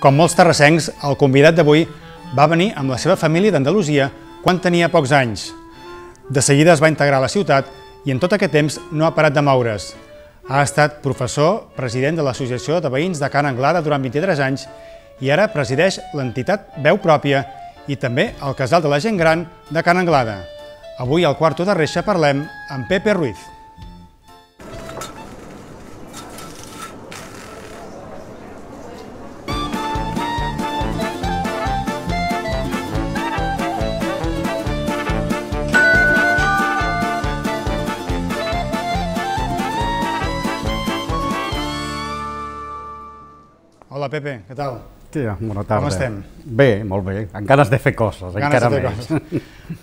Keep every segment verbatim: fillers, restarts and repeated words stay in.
Com molts terrassencs, el convidat d'avui va venir amb la seva família d'Andalusia quan tenia pocs anys. De seguida es va integrar a la ciutat i en tot aquest temps no ha parat de moure's. Ha estat professor, president de l'Associació de Veïns de Ca n'Anglada durant vint-i-tres anys i ara presideix l'entitat Veu Pròpia i també el Casal de la Gent Gran de Ca n'Anglada. Avui al Quarto de Reixa parlem amb Pepe Ruiz. Hola, Pepe, què tal? Tia, bona tarda. Com estem? Bé, molt bé, amb ganes de fer coses, encara més.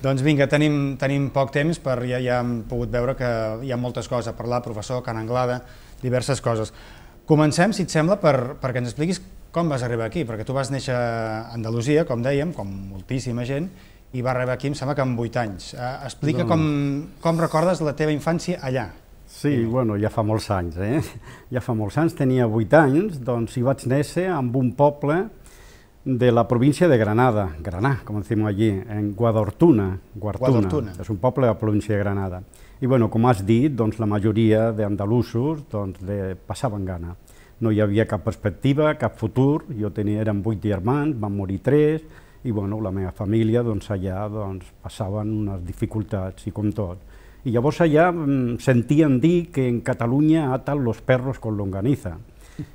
Doncs vinga, tenim, tenim poc temps, per ja, ja hem pogut veure que hi ha moltes coses a parlar, professor, Ca n'Anglada, diverses coses. Comencem, si et sembla, per, perquè ens expliquis com vas arribar aquí, perquè tu vas néixer a Andalusia, com dèiem, com moltíssima gent, i vas arribar aquí, em sembla que amb vuit anys. Uh, explica no, no. Com, com recordes la teva infància allà. Sí, bueno, ja fa molts anys, eh? Ja fa molts anys, tenia vuit anys, doncs hi vaig néixer en un poble de la província de Granada, Granà, com decimos allí, en Guadortuna, Guartuna, és un poble de la província de Granada. I bueno, com has dit, doncs la majoria d'andalusos doncs, de, passaven gana. No hi havia cap perspectiva, cap futur, jo tenia, eren vuit germans, van morir tres, i bueno, la meva família doncs, allà doncs, passaven unes dificultats, i com tot. I llavors allà sentien dir que en Catalunya atan los perros con longaniza.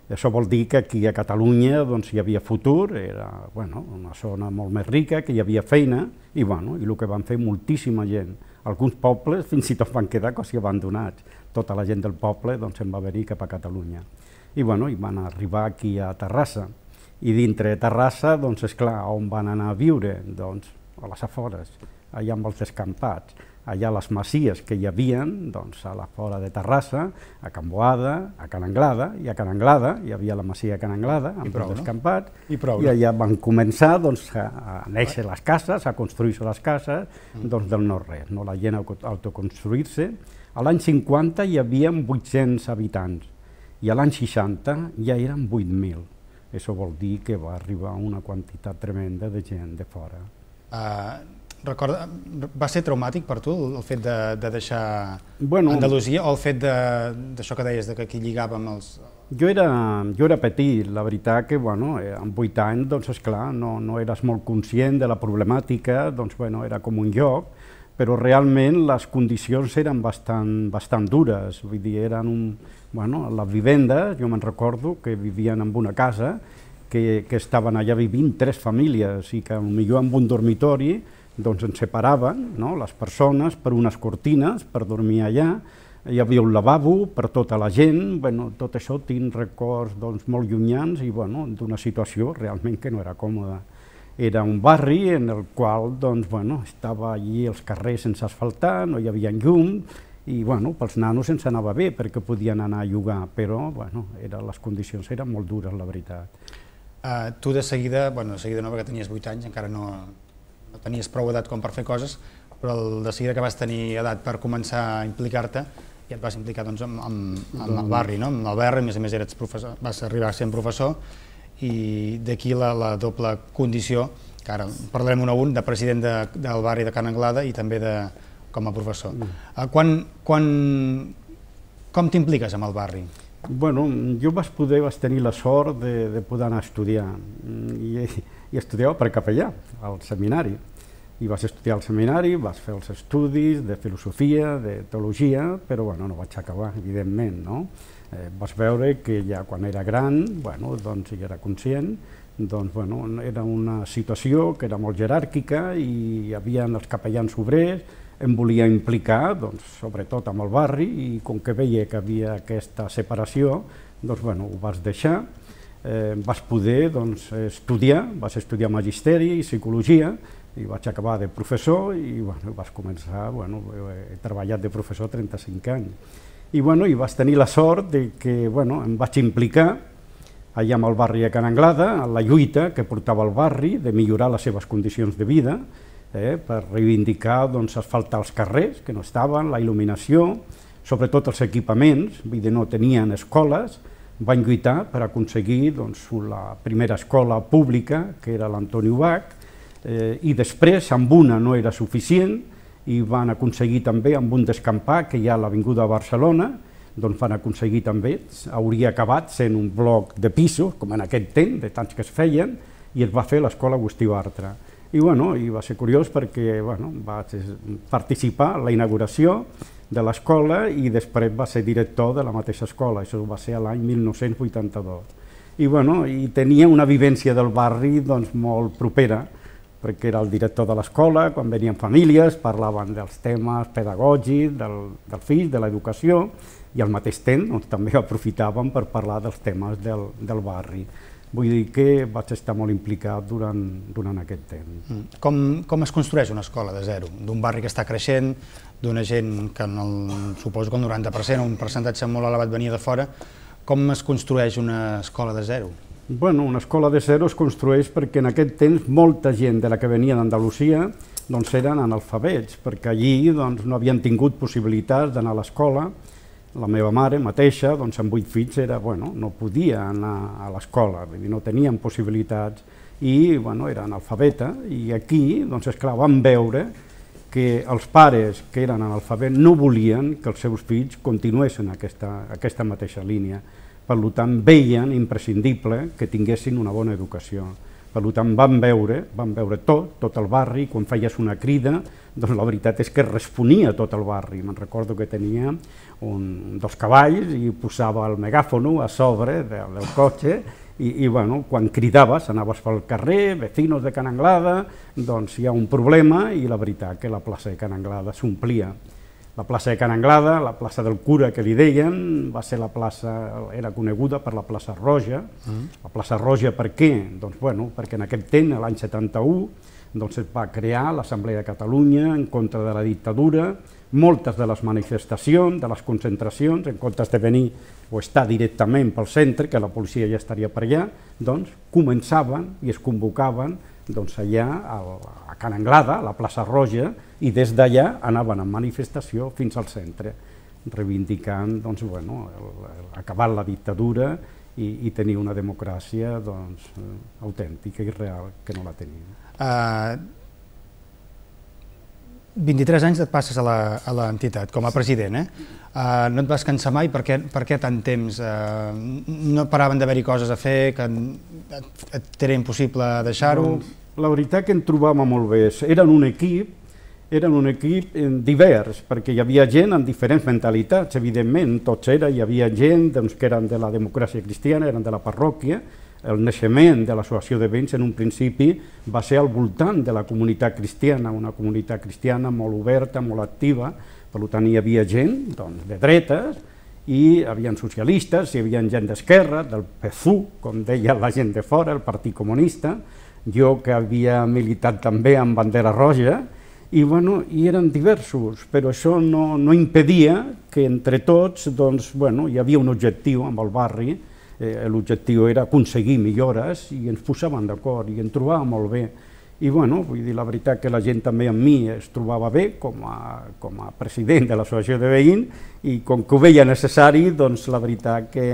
Això vol dir que aquí a Catalunya doncs, hi havia futur, era bueno, una zona molt més rica, que hi havia feina, i, bueno, i el que van fer moltíssima gent. Alguns pobles fins i tot van quedar quasi abandonats. Tota la gent del poble doncs, se'n va venir cap a Catalunya. I, bueno, i van arribar aquí a Terrassa. I dintre de Terrassa, doncs, esclar, on van anar a viure? Doncs a les afores, allà amb els descampats. Allà les masies que hi havia, doncs, a la fora de Terrassa, a Can Boada, a Ca n'Anglada, i a Ca n'Anglada hi havia la masia de Ca n'Anglada, amb els descampats, I, prou, i allà van començar doncs, a, a néixer les cases, a construir-se les cases doncs, del no-res, no? La gent a autoconstruir-se. A l'any cinquanta hi havia vuit-cents habitants, i a l'any seixanta ja eren vuit mil. Això vol dir que va arribar una quantitat tremenda de gent de fora. Uh... Recorda, va ser traumàtic per tu el fet de, de deixar bueno, Andalusia o el fet d'això que deies, de que aquí lligàvem els... Jo era, jo era petit, la veritat que bueno, amb vuit anys, doncs esclar, no, no eres molt conscient de la problemàtica, doncs bueno, era com un lloc, però realment les condicions eren bastant, bastant dures, vull dir, eren un... Bueno, les vivendes, jo me'n recordo que vivien en una casa, que, que estaven allà vivint tres famílies i que potser en un dormitori doncs ens separaven, no, les persones per unes cortines per dormir allà, hi havia un lavabo per tota la gent, bueno, tot això tinc records doncs, molt llunyans i bueno, d'una situació realment que no era còmoda. Era un barri en el qual doncs, bueno, estava allí els carrers sense asfaltar, no hi havia llum i bueno, pels nanos ens anava bé perquè podien anar a jugar, però bueno, era, les condicions eren molt dures, la veritat. Uh, tu de seguida, bueno, de seguida no, perquè tenies vuit anys, encara no... no tenies prou edat com per fer coses, però el, de seguida que vas tenir edat per començar a implicar-te, ja et vas implicar doncs, amb, amb, amb el barri, no? Amb el barri, a més a més eres professor, vas arribar a ser professor, i d'aquí la, la doble condició, que ara parlarem un a un, de president de, del barri de Ca n'Anglada i també de, com a professor. Mm. Uh, quan, quan, com t'impliques amb el barri? Bueno, jo vaig poder, vaig tenir la sort de, de poder anar a estudiar, i, i estudiava per capellà, al seminari. I vaig estudiar al seminari, vaig fer els estudis de filosofia, de teologia, però bueno, no vaig acabar, evidentment, no? Eh, vaig veure que ja quan era gran, bueno, doncs ja era conscient, doncs bueno, era una situació que era molt jeràrquica i hi havia els capellans obrers, em volia implicar, doncs, sobretot amb el barri, i com que veia que havia aquesta separació, doncs, bueno, ho vaig deixar. Eh, vaig poder doncs, estudiar, vaig estudiar magisteri i psicologia, i vaig acabar de professor, i bueno, vaig començar, bueno, he treballat de professor trenta-cinc anys. I bueno, i vaig tenir la sort de que bueno, em vaig implicar allà amb el barri de Ca n'Anglada, en la lluita que portava el barri de millorar les seves condicions de vida, Eh, per reivindicar, doncs, asfaltar els carrers, que no estaven, la il·luminació, sobretot els equipaments, vull dir, no tenien escoles, van lluitar per aconseguir doncs, la primera escola pública, que era l'Antoni Ubach, eh, i després amb una no era suficient i van aconseguir també amb un descampar que hi ha a l'Avinguda de Barcelona, doncs van aconseguir també, hauria acabat sent un bloc de pisos, com en aquest temps, de tants que es feien, i es va fer l'escola Agustí Bartra. I, bueno, i va ser curiós perquè bueno, vaig participar en la inauguració de l'escola i després va ser director de la mateixa escola, això va ser l'any mil nou-cents vuitanta-dos. I, bueno, i tenia una vivència del barri doncs, molt propera, perquè era el director de l'escola, quan venien famílies, parlaven dels temes pedagògics, del, del fill, de l'educació, i al mateix temps doncs, també aprofitàvem per parlar dels temes del, del barri. Vull dir que vaig estar molt implicat durant, durant aquest temps. Com, com es construeix una escola de zero? D'un barri que està creixent, d'una gent que en el, suposo que el noranta per cent, un percentatge molt elevat venia de fora, com es construeix una escola de zero? Bueno, una escola de zero es construeix perquè en aquest temps molta gent de la que venia d'Andalusia doncs eren analfabets, perquè allí doncs, no havien tingut possibilitats d'anar a l'escola. La meva mare mateixa, doncs, amb vuit fills, era, bueno, no podia anar a l'escola, no tenien possibilitats i bueno, era analfabeta. I aquí, doncs, esclar, vam veure que els pares que eren analfabets no volien que els seus fills continuessin aquesta, aquesta mateixa línia. Per tant, veien imprescindible que tinguessin una bona educació. Per tant, vam veure, vam veure tot, tot el barri, quan feies una crida, doncs la veritat és que responia tot el barri. Me'n recordo que tenia un, dos cavalls i posava el megàfono a sobre de, del cotxe i, i bueno, quan cridaves, anaves pel carrer, vecinos de Can Anglada, doncs hi ha un problema i la veritat que la plaça de Can Anglada s'omplia. La plaça de Can Anglada, la plaça del Cura que li deien, va ser la plaça, era coneguda per la plaça Roja. Mm. La plaça Roja per què? Doncs bueno, perquè en aquest temps, l'any setanta-u, doncs es va crear l'Assemblea de Catalunya en contra de la dictadura, moltes de les manifestacions, de les concentracions, en comptes de venir o estar directament pel centre, que la policia ja estaria per allà, doncs començaven i es convocaven doncs allà a Can Anglada, a la plaça Roja, i des d'allà anaven en manifestació fins al centre, reivindicant doncs, bueno, acabar la dictadura i, i tenir una democràcia doncs, autèntica i real, que no la tenim. Uh, vint-i-tres anys et passes a l'entitat com a president, eh? Uh, no et vas cansar mai? Per què, per què tant temps? Uh, no paraven d'haver-hi coses a fer, que et, et era impossible deixar-ho? Doncs, la veritat que en trobàvem molt bé. Eren un equip, eren un equip divers, perquè hi havia gent amb diferents mentalitats, evidentment, tots era, hi havia gent doncs, que eren de la democràcia cristiana, eren de la parròquia. El naixement de l'associació de veïns en un principi va ser al voltant de la comunitat cristiana, una comunitat cristiana molt oberta, molt activa, per tant hi havia gent doncs, de dretes, i hi havia socialistes, hi havia gent d'esquerra, del P S U, com deia la gent de fora, el Partit Comunista, jo que havia militat també amb bandera roja, i, bueno, i eren diversos, però això no, no impedia que entre tots doncs, bueno, hi havia un objectiu amb el barri. Eh, l'objectiu era aconseguir millores i ens posàvem d'acord i ens trobàvem molt bé. I bueno, vull dir, la veritat que la gent també amb mi es trobava bé com a, com a president de l'associació de veïns i com que ho veia necessari, doncs la veritat que,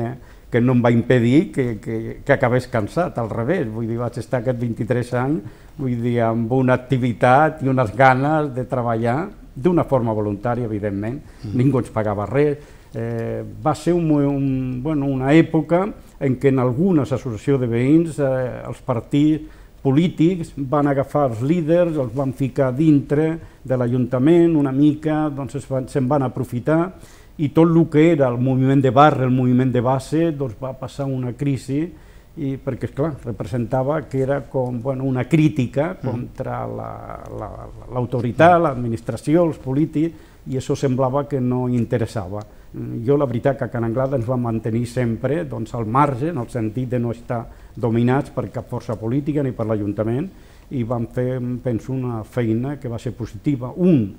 que no em va impedir que, que, que acabés cansat, al revés. Vull dir, vaig estar aquests vint-i-tres anys, vull dir, amb una activitat i unes ganes de treballar d'una forma voluntària, evidentment, mm. ningú ens pagava res. Eh, va ser un, un, bueno, una època en què en algunes associacions de veïns eh, els partits polítics van agafar els líders, els van ficar dintre de l'Ajuntament una mica, doncs se'n van, se van aprofitar i tot el que era el moviment de barri, el moviment de base, doncs va passar una crisi i perquè, esclar, representava que era com bueno, una crítica contra l'autoritat, la, la, l'administració, els polítics, i això semblava que no interessava. Jo la veritat que a Can Anglada ens vam mantenir sempre doncs, al marge, en el sentit de no estar dominats per cap força política ni per l'Ajuntament, i vam fer, penso, una feina que va ser positiva. Un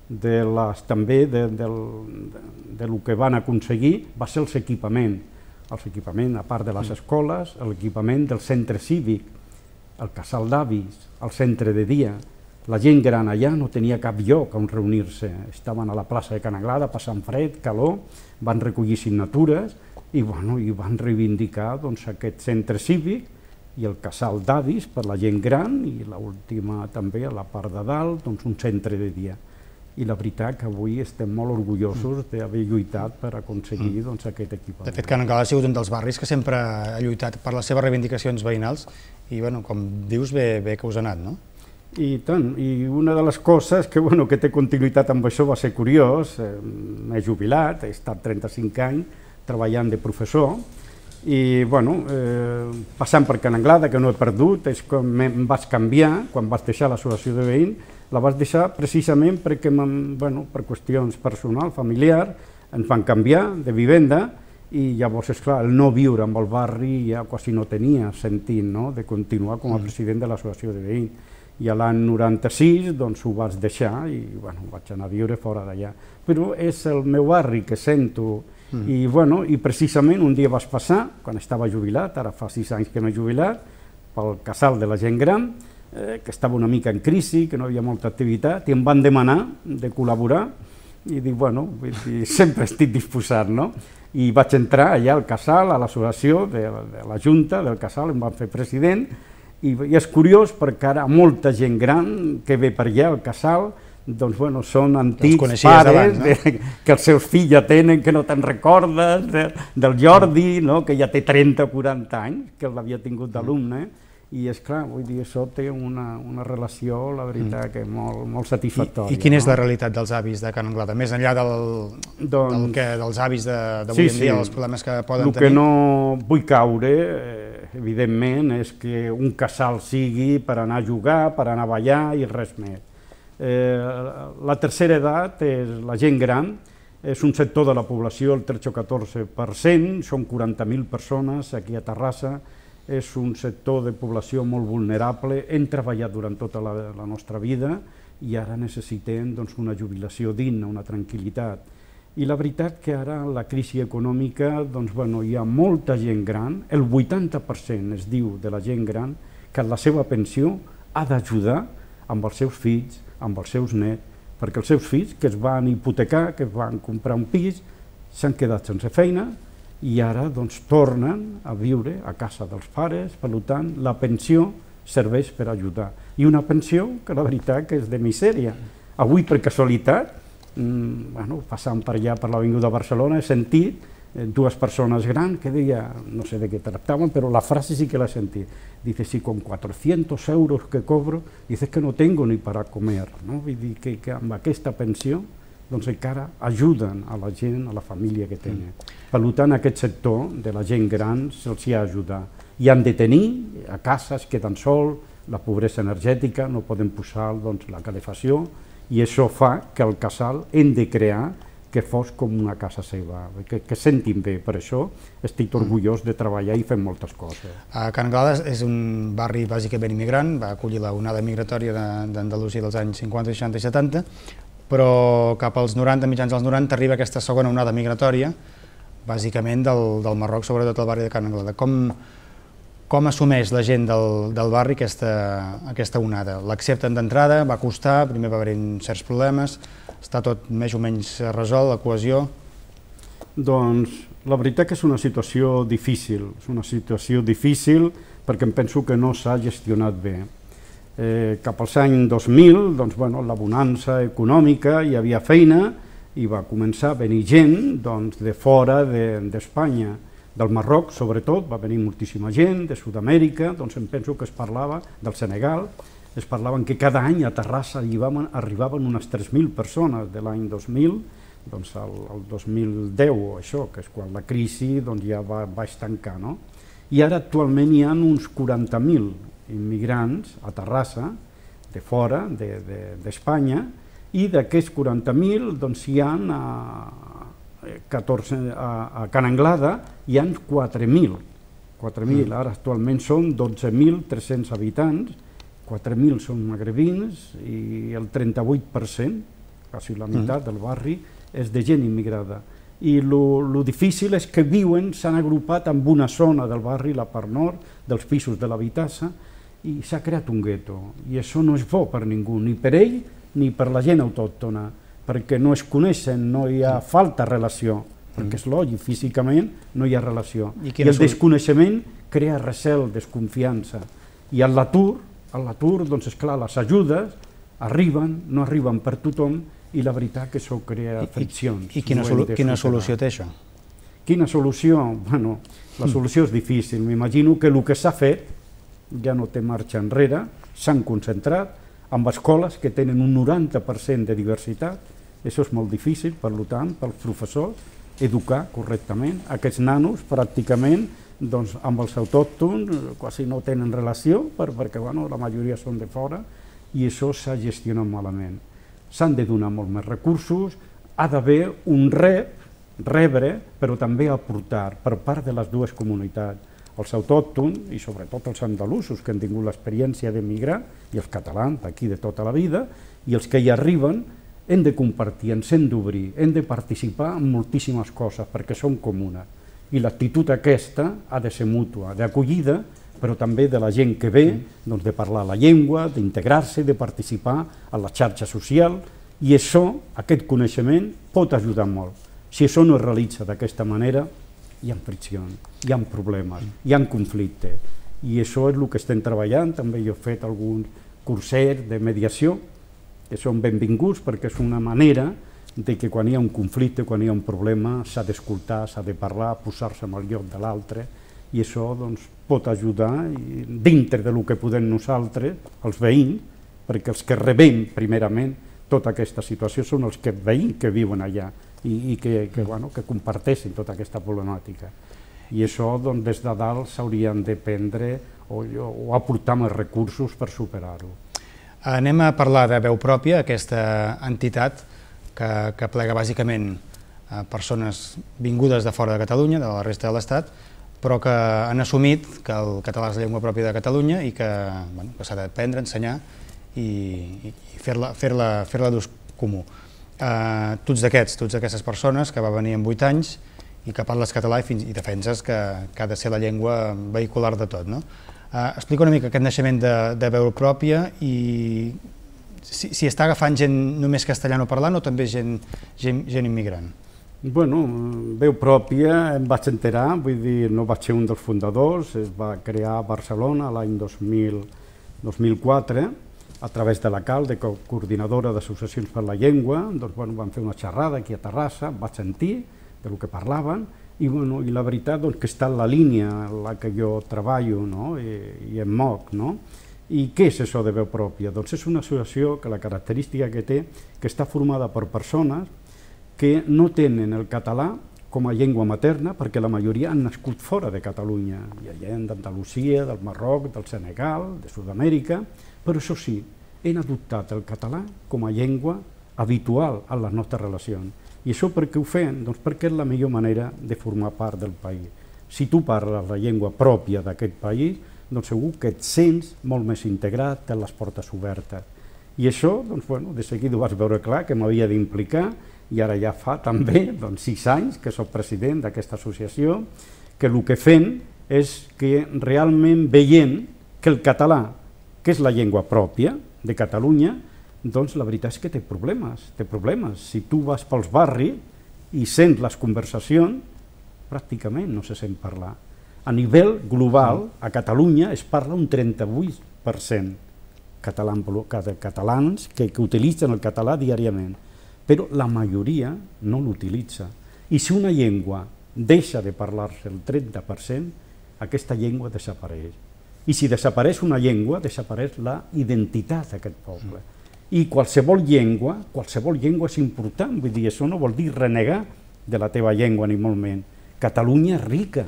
de les, també de, de, de, de lo que van aconseguir va ser els equipaments. Els equipaments, a part de les escoles, l'equipament del centre cívic, el casal d'avis, el centre de dia. La gent gran allà no tenia cap lloc on reunir-se, estaven a la plaça de Can Anglada passant fred, calor, van recollir signatures i, bueno, i van reivindicar doncs, aquest centre cívic i el casal d'avis per la gent gran i l'última també a la part de dalt, doncs, un centre de dia. I la veritat que avui estem molt orgullosos d'haver lluitat per aconseguir doncs, aquest equipament. De fet, Can Anglada ha sigut un dels barris que sempre ha lluitat per les seves reivindicacions veïnals i, bueno, com dius, bé, bé que us ha anat, no? I tant, i una de les coses que, bueno, que té continuïtat amb això va ser curiós, eh, m'he jubilat, he estat trenta-cinc anys treballant de professor, i bueno, eh, passant per Can Anglada, que no he perdut, és quan em vaig canviar, quan vaig deixar l'associació de veïns, la vaig deixar precisament perquè, bueno, per qüestions personals, familiars, ens van canviar de vivenda i llavors, esclar, el no viure amb el barri ja quasi no tenia sentit, no?, de continuar com a president de l'associació de veïns. I a l'any noranta-sis doncs, ho vaig deixar i bueno, vaig anar a viure fora d'allà. Però és el meu barri que sento. Mm. I, bueno, i precisament un dia vaig passar, quan estava jubilat, ara fa sis anys que m'he jubilat, pel casal de la gent gran, eh, que estava una mica en crisi, que no hi havia molta activitat, i em van demanar de col·laborar, i dic, bueno, vull dir, sempre estic disposat, no? I vaig entrar allà al casal, a l'associació de, de la Junta del casal, em van fer president, i, i és curiós perquè ara molta gent gran que ve per allà al casal, doncs, bueno, són antics pares abans, no? de, que els seus fills ja tenen, que no te'n recordes, de, del Jordi, no? Que ja té trenta o quaranta anys, que l'havia tingut d'alumne, i és clar, vull dir, això té una, una relació, la veritat, que molt, molt satisfactòria. I, i quina és no? la realitat dels avis de Can Anglada? Més enllà del, doncs, del que, dels avis d'avui sí, en dia, sí. els problemes que poden El tenir? El que no vull caure, eh, evidentment, és que un casal sigui per anar a jugar, per anar a ballar i res més. Eh, la tercera edat és la gent gran, és un sector de la població, el tretze o catorze per cent, són quaranta mil persones aquí a Terrassa, és un sector de població molt vulnerable, hem treballat durant tota la, la nostra vida i ara necessitem doncs, una jubilació digna, una tranquil·litat. I la veritat que ara la crisi econòmica, doncs, bueno, hi ha molta gent gran, el vuitanta per cent es diu de la gent gran que la seva pensió ha d'ajudar amb els seus fills, amb els seus nets, perquè els seus fills que es van hipotecar, que es van comprar un pis, s'han quedat sense feina i ara doncs, tornen a viure a casa dels pares, per tant la pensió serveix per ajudar. I una pensió que la veritat que és de misèria. Avui, per casualitat, mmm, bueno, passant per allà per l'avinguda de Barcelona, he sentit eh, dues persones grans que deia, no sé de què tractaven, però la frase sí que l'he sentit. Dice, si con cuatrocientos euros que cobro, dices que no tengo ni para comer. No? Vull dir que, que amb aquesta pensió doncs encara ajuden a la gent, a la família que tenen. Per tant, aquest sector de la gent gran se'ls hi ha d'ajudar. I han de tenir, a casa es queden sol, la pobresa energètica, no poden posar doncs, la calefacció, i això fa que el casal hem de crear que fos com una casa seva, que, que sentin bé. Per això estic orgullós de treballar i fer moltes coses. A Can Anglada és un barri bàsicament immigrant, va acollir la onada migratòria d'Andalusia dels anys cinquanta, seixanta i setanta, però cap als noranta, mitjans dels noranta, arriba aquesta segona onada migratòria, bàsicament del, del Marroc, sobretot al barri de Can Anglada. Com, com assumeix la gent del, del barri aquesta, aquesta onada? L'accepten d'entrada? Va costar? Primer va haver-hi certs problemes? Està tot més o menys resolt, la cohesió? Doncs la veritat que és una situació difícil, és una situació difícil perquè em penso que no s'ha gestionat bé. Eh, cap als anys dos mil, doncs, bueno, la bonança econòmica, hi havia feina i va començar a venir gent doncs, de fora d'Espanya, de, del Marroc sobretot, va venir moltíssima gent, de Sud-amèrica, doncs em penso que es parlava del Senegal, es parlaven que cada any a Terrassa arribaven, arribaven unes tres mil persones de l'any dos mil, doncs al, al dos mil deu, això, que és quan la crisi doncs, ja va, va estancar, no? I ara actualment hi ha uns quaranta mil immigrants a Terrassa, de fora d'Espanya, i d'aquests quaranta mil doncs, hi ha a, catorze, a, a Can Anglada hi ha quatre mil. quatre mil, ara actualment són dotze mil tres-cents habitants, quatre mil són magrebins i el trenta-vuit per cent, quasi la meitat del barri, és de gent immigrada. I el difícil és que viuen, s'han agrupat en una zona del barri, la part nord, dels pisos de l'habitatge, i s'ha creat un gueto, i això no és bo per ningú, ni per ell ni per la gent autòctona, perquè no es coneixen, no hi ha falta relació, perquè és lògic, físicament no hi ha relació. I I el desconeixement crea recel, desconfiança. I a l'atur, a l'atur, doncs esclar, les ajudes arriben, no arriben per tothom, i la veritat que això crea friccions. I quina solució té això? Quina solució? Bueno, la solució és difícil. M'imagino que el que s'ha fet ja no té marxa enrere, s'han concentrat en escoles que tenen un noranta per cent de diversitat. Això és molt difícil, per tant, pels professors, educar correctament. Aquests nanos, pràcticament, doncs, amb els autòctons quasi no tenen relació, perquè bueno, la majoria són de fora, i això s'ha gestionat malament. S'han de donar molts més recursos, ha d'haver un rep, rebre, però també aportar per part de les dues comunitats, els autòctons i sobretot els andalusos que han tingut l'experiència d'emigrar, i els catalans d'aquí de tota la vida, i els que hi arriben hem de compartir, ens hem d'obrir, hem de participar en moltíssimes coses perquè són comunes. I l'actitud aquesta ha de ser mútua, d'acollida, però també de la gent que ve, doncs, de parlar la llengua, d'integrar-se, de participar en la xarxa social, i això, aquest coneixement, pot ajudar molt. Si això no es realitza d'aquesta manera, hi ha friccions, hi ha problemes, hi ha conflictes, i això és el que estem treballant. També jo he fet alguns cursets de mediació, que són benvinguts perquè és una manera de que quan hi ha un conflicte, quan hi ha un problema, s'ha d'escoltar, s'ha de parlar, posar-se en el lloc de l'altre, i això doncs, pot ajudar dintre del que podem nosaltres, els veïns, perquè els que rebem primerament tota aquesta situació són els que veïns que viuen allà i, i que, que, bueno, que comparteixen tota aquesta problemàtica. I això doncs, des de dalt s'haurien de prendre o, o aportar més recursos per superar-ho. Anem a parlar de Veu Pròpia, aquesta entitat que, que plega bàsicament a persones vingudes de fora de Catalunya, de la resta de l'Estat, però que han assumit que el català és la llengua pròpia de Catalunya i que, bueno, que s'ha d'aprendre, ensenyar i, i fer-la fer-la fer-la d'ús comú. Uh, tots d'aquests, tots d'aquestes persones que va venir amb vuit anys i que parles català i, fins, i defenses que, que ha de ser la llengua vehicular de tot, no? Uh, explica una mica aquest naixement de, de Veu Pròpia i si, si està agafant gent només castellano parlant o també gent, gent, gent immigrant. Bueno, Veu Pròpia em vaig enterar, vull dir, no vaig ser un dels fundadors, es va crear a Barcelona l'any dos mil quatre, a través de la C A L, de Coordinadora d'Associacions per la Llengua. Doncs, bueno, vam fer una xerrada aquí a Terrassa, vaig sentir del que parlaven, i, bueno, i la veritat doncs, que està en la línia en la que jo treballo, no? I, i em moc, no? I què és això de Veu Pròpia? Doncs és una associació que la característica que té que està formada per persones que no tenen el català com a llengua materna, perquè la majoria han nascut fora de Catalunya. Hi ha gent d'Andalusia, del Marroc, del Senegal, de Sud-amèrica, però això sí, han adoptat el català com a llengua habitual en les nostres relacions. I això per què ho fem? Doncs perquè és la millor manera de formar part del país. Si tu parles la llengua pròpia d'aquest país, doncs segur que et sents molt més integrat, tens les portes obertes. I això, doncs, bueno, de seguida ho vas veure clar, que m'havia d'implicar, i ara ja fa també doncs, sis anys que soc president d'aquesta associació, que el que fem és que realment veient que el català, que és la llengua pròpia de Catalunya, doncs la veritat és que té problemes, té problemes. Si tu vas pels barris i sents les conversacions, pràcticament no se sent parlar. A nivell global, a Catalunya es parla un trenta-vuit per cent de catalans que, que utilitzen el català diàriament, però la majoria no l'utilitza. I si una llengua deixa de parlar-se el trenta per cent, aquesta llengua desapareix. I si desapareix una llengua, desapareix la identitat d'aquest poble. I qualsevol llengua, qualsevol llengua és important, vull dir, això no vol dir renegar de la teva llengua ni molt menys. Catalunya és rica.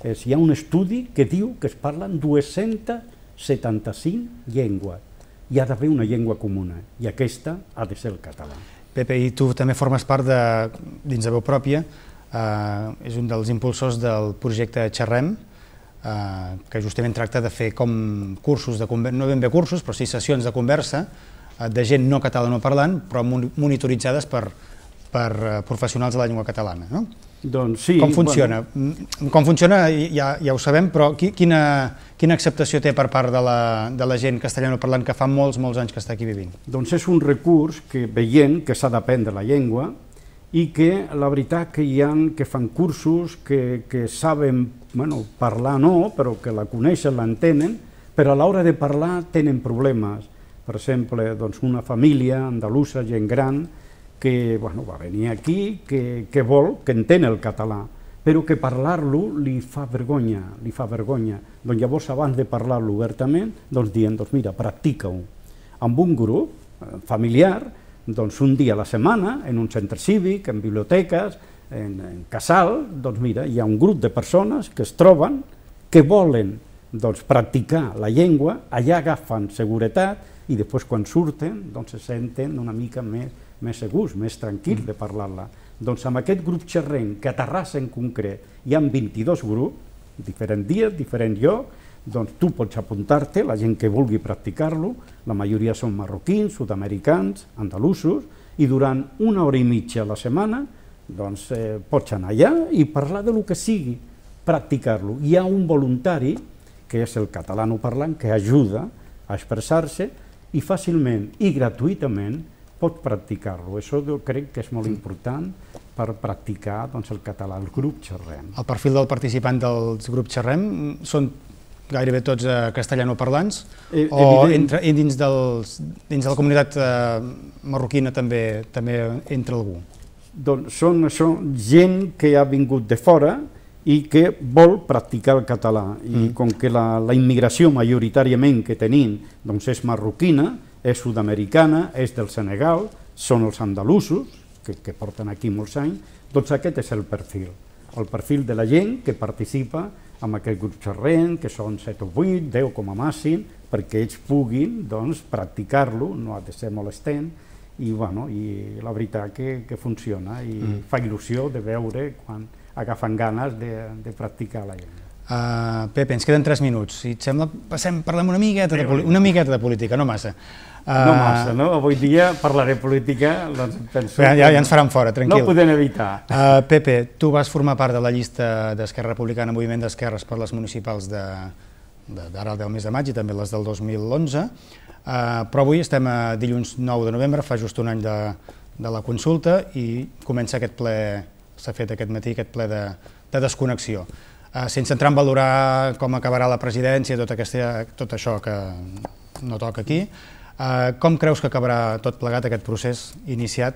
Hi ha un estudi que diu que es parlen dues-centes setanta-cinc llengües. Hi ha d'haver una llengua comuna, i aquesta ha de ser el català. Pepe, i tu també formes part de, dins de Veu Pròpia, eh, és un dels impulsors del projecte Xerrem, eh, que justament tracta de fer com cursos, de, no ben bé cursos, però sí sessions de conversa eh, de gent no catalanoparlant, però monitoritzades per, per eh, professionals de la llengua catalana, no? Doncs sí. Com funciona? Bueno. Com funciona ja, ja ho sabem, però quina, quina acceptació té per part de la, de la gent castellanoparlant que fa molts, molts anys que està aquí vivint? Doncs és un recurs que veient que s'ha d'aprendre la llengua i que la veritat que hi ha que fan cursos, que, que saben bueno, parlar no, però que la coneixen, l'entenen, però a l'hora de parlar tenen problemes. Per exemple, doncs una família andalusa, gent gran, que bueno, va venir aquí, que, que vol, que entén el català, però que parlar-lo li fa vergonya, li fa vergonya. Doncs llavors, abans de parlar-lo obertament, doncs dient, doncs mira, practica-ho. Amb un grup familiar, doncs un dia a la setmana, en un centre cívic, en biblioteques, en, en casal, doncs mira, hi ha un grup de persones que es troben, que volen doncs, practicar la llengua, allà agafen seguretat i després quan surten doncs, se senten una mica més, més segurs, més tranquils de parlar-la. Doncs amb aquest grup xerrenc, que a Terrassa en concret hi ha vint-i-dos grups, diferents dies, diferents llocs, doncs tu pots apuntar-te, la gent que vulgui practicar-lo, la majoria són marroquins, sud-americans, andalusos, i durant una hora i mitja a la setmana doncs, eh, pots anar allà i parlar de lo que sigui, practicar-lo. Hi ha un voluntari, que és el catalanoparlant, que ajuda a expressar-se i fàcilment i gratuïtament pot practicar-lo. Això crec que és molt important per practicar doncs, el català, el grup xerrem. El perfil del participant dels grups xerrem són gairebé tots eh, castellanoparlants eh, o entre, dins, dels, dins de la comunitat eh, marroquina també, també entra algú? Doncs són això, gent que ha vingut de fora i que vol practicar el català. I mm. com que la, la immigració majoritàriament que tenim doncs és marroquina, és sud-americana, és del Senegal, són els andalusos, que, que porten aquí molts anys, doncs aquest és el perfil. El perfil de la gent que participa amb aquest grup xerrent, que són set o vuit, deu com a màxim, perquè ells puguin doncs, practicar-lo, no ha de ser molestent, i, bueno, i la veritat que, que funciona, i mm. fa il·lusió de veure quan agafen ganes de, de practicar la llengua. Uh, Pepe, ens queden tres minuts. Si et sembla, passem, parlem una miqueta de, una miqueta de política, no massa. Uh, no massa, no? Avui dia parlaré política, doncs penso... Ja, ja, ja ens faran fora, tranquil. No ho podem evitar. Uh, Pepe, tu vas formar part de la llista d'Esquerra Republicana, Moviment d'Esquerres per les municipals d'ara de, del mes de maig i també les del dos mil onze, uh, però avui estem a dilluns nou de novembre, fa just un any de, de la consulta i comença aquest ple, s'ha fet aquest matí, aquest ple de, de desconnexió. Uh, sense entrar en valorar com acabarà la presidència, tot, aquesta, tot això que no toca aquí, uh, com creus que acabarà tot plegat aquest procés iniciat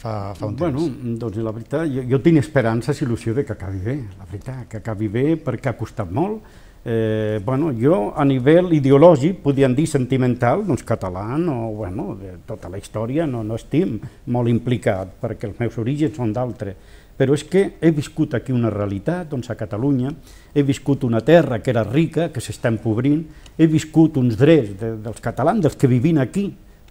fa, fa un temps? Bueno, doncs la veritat, jo, jo tinc esperances i il·lusió de que acabi bé, la veritat, que acabi bé perquè ha costat molt. Eh, bueno, jo a nivell ideològic, podríem dir sentimental, doncs català, no, bueno, de tota la història no, no estic molt implicat perquè els meus orígens són d'altres. Però és que he viscut aquí una realitat, doncs a Catalunya, he viscut una terra que era rica, que s'està empobrint, he viscut uns drets de, dels catalans, dels que vivim aquí,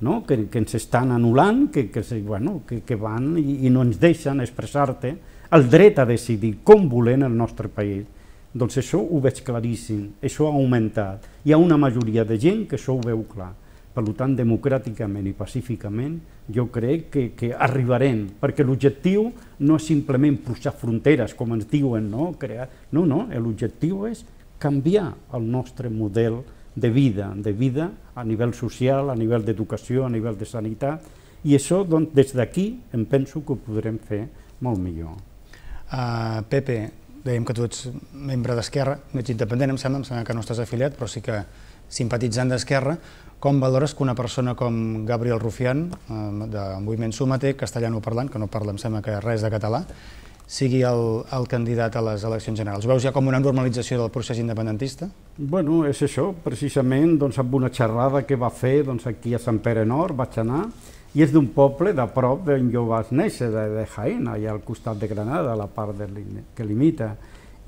no? que, que ens estan anul·lant, que, que, bueno, que, que van i, i no ens deixen expressar-te, el dret a decidir com volem el nostre país. Doncs això ho veig claríssim, això ha augmentat. Hi ha una majoria de gent que això ho veu clar. Per tant, democràticament i pacíficament, jo crec que, que arribarem, perquè l'objectiu no és simplement posar fronteres, com ens diuen, no? Crear... no, no, l'objectiu és canviar el nostre model de vida, de vida a nivell social, a nivell d'educació, a nivell de sanitat, i això, doncs, des d'aquí, em penso que ho podrem fer molt millor. Uh, Pepe, dèiem que tu ets membre d'Esquerra, no ets independent, em sembla, em sembla que no estàs afiliat, però sí que simpatitzant d'Esquerra. Com valores que una persona com Gabriel Rufián, del moviment Súmate, castellanoparlant, que no parla, em sembla que res de català, sigui el, el candidat a les eleccions generals? Ho veus ja com una normalització del procés independentista? Bueno, és això, precisament, doncs, amb una xerrada que va fer doncs, aquí a Sant Pere Nord, vaig anar, i és d'un poble de prop d'on jo vaig néixer, de, de Jaén, allà al costat de Granada, a la part de, que limita.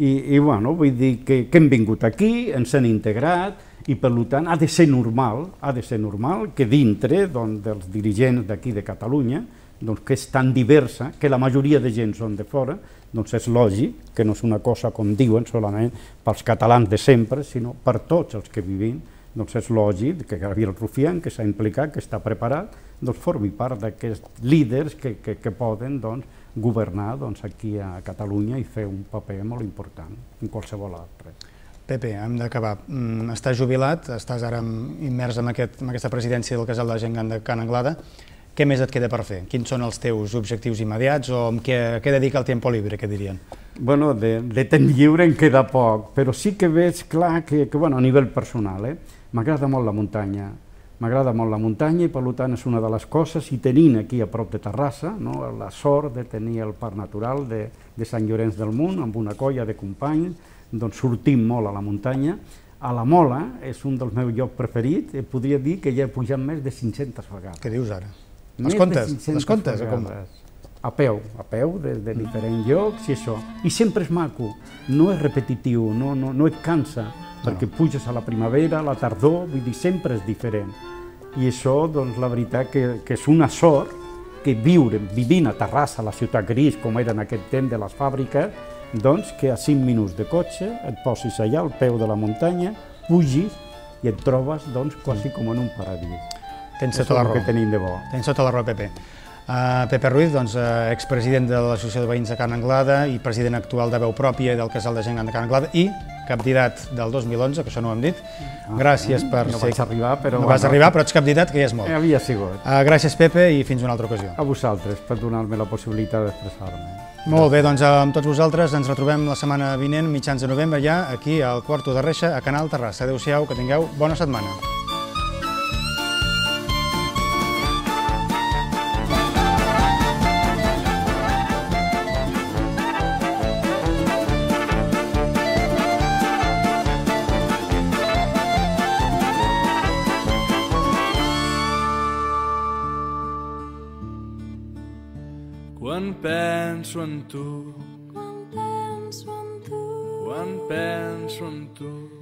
I, i bueno, vull dir que, que hem vingut aquí, ens hem integrat, i per tant ha de ser normal, ha de ser normal que dintre doncs, dels dirigents d'aquí de Catalunya, doncs, que és tan diversa, que la majoria de gent són de fora, doncs és lògic que no és una cosa, com diuen, solament pels catalans de sempre, sinó per tots els que vivim, doncs és lògic que Gabriel Rufián, que s'ha implicat, que està preparat, doncs formi part d'aquests líders que, que, que poden doncs, governar doncs, aquí a Catalunya i fer un paper molt important en qualsevol altre. Pepe, hem d'acabar. Estàs jubilat, estàs ara immers en, aquest, en aquesta presidència del Casal de la Gent Gran de Can Anglada. què més et queda per fer? Quins són els teus objectius immediats o amb què, què dedica el tempo libre, que dirien? Bueno, de, de temps lliure en queda poc, però sí que veig clar que, que bueno, a nivell personal, eh, m'agrada molt la muntanya. M'agrada molt la muntanya i per tant és una de les coses, i tenint aquí a prop de Terrassa, no, la sort de tenir el parc natural de, de Sant Llorenç del Munt, amb una colla de companys, doncs sortim molt a la muntanya. A la Mola és un dels meus llocs preferits, i podria dir que ja he pujat més de cinc-centes vegades. Què dius ara? Les comptes? Les comptes? A peu, a peu, des de diferents llocs i això. I sempre és maco, no és repetitiu, no, no, no et cansa, perquè puges a la primavera, a la tardor, vull dir, sempre és diferent. I això, doncs, la veritat que, que és una sort que viure, vivint a Terrassa, la ciutat gris, com era en aquest temps de les fàbriques, doncs que a cinc minuts de cotxe et posis allà al peu de la muntanya, pugis i et trobes doncs, quasi com en un paradís. Tens tota la raó. Que tenim de bo. Tens tota la raó, Pepe. Uh, Pepe Ruiz, doncs, uh, expresident de l'Associació de Veïns de Carn Anglada i president actual de Veu Pròpia i del Casal de Gent Gran de Carn Anglada i candidat del dos mil onze, que això no ho hem dit. Ah, gràcies per no ser... vaig arribar, però... No vas arribar, però ets candidat, que ja és molt. Havia sigut. Uh, gràcies, Pepe, i fins una altra ocasió. A vosaltres, per donar-me la possibilitat d'expressar-me. Molt bé, doncs amb tots vosaltres ens retrobem la setmana vinent, mitjans de novembre, ja aquí al Quarto de Reixa, a Canal Terrassa. Adéu-siau, que tingueu bona setmana. Quan penso en tu, Quan penso en tu, quan penso en tu,